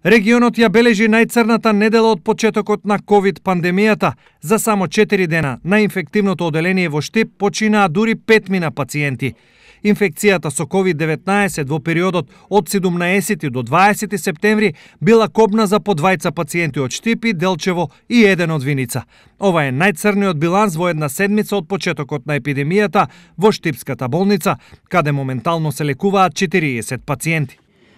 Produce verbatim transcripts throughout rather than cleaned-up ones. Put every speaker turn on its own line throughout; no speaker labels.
Регионот ја бележи најцрната недела од почетокот на ковид пандемијата. За само четири дена на инфективното оделение во Штип починаа дури петмина пациенти. Инфекцијата со ковид деветнаесет во периодот од седумнаесети до дваесети септември била кобна за по двајца пациенти од Штип и Делчево и еден од Виница. Ова е најцрниот биланс во една седмица од почетокот на епидемијата во Штипската болница, каде моментално се лекуваат четириесет пациенти.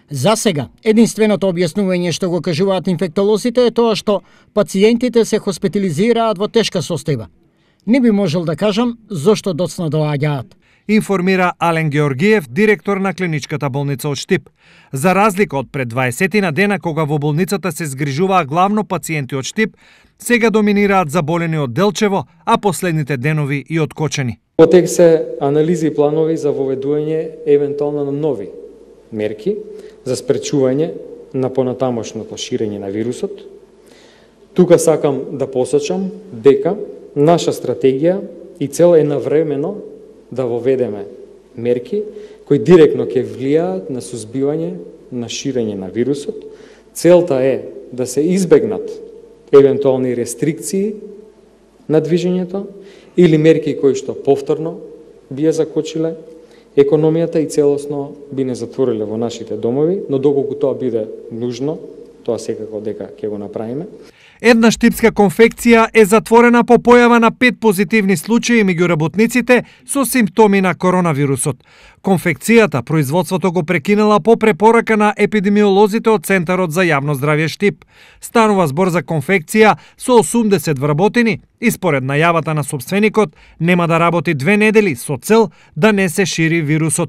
За сега, единственото објаснување што го кажуваат инфектолозите е тоа што пациентите се хоспитализираат во тешка состојба. Не би можел да кажам зошто доцна доаѓаат,
информира Ален Георгиев, директор на клиничката болница од Штип. За разлика од пред дваесетина дена кога во болницата се згрижуваа главно пациенти од Штип, сега доминираат заболени од Делчево, а последните денови и од Кочани.
Во тек се анализи и планови за воведување евентуално на нови мерки за спречување на понатамошното ширење на вирусот. Тука сакам да посочам дека наша стратегија и цел е навремено да воведеме мерки кои директно ќе влијаат на сузбивање на ширење на вирусот. Целта е да се избегнат евентуални рестрикции на движењето или мерки кои што повторно би ја закочиле економијата и целосно би не затвориле во нашите домови, но доколку тоа биде нужно, тоа секако дека ќе го направиме.
Една штипска конфекција е затворена по појава на пет позитивни случаи меѓу работниците со симптоми на коронавирусот. Конфекцијата производството го прекинала по препорака на епидемиолозите од Центарот за јавно здравје Штип. Станува збор за конфекција со осумдесет вработени и според најавата на сопственикот нема да работи две недели со цел да не се шири вирусот.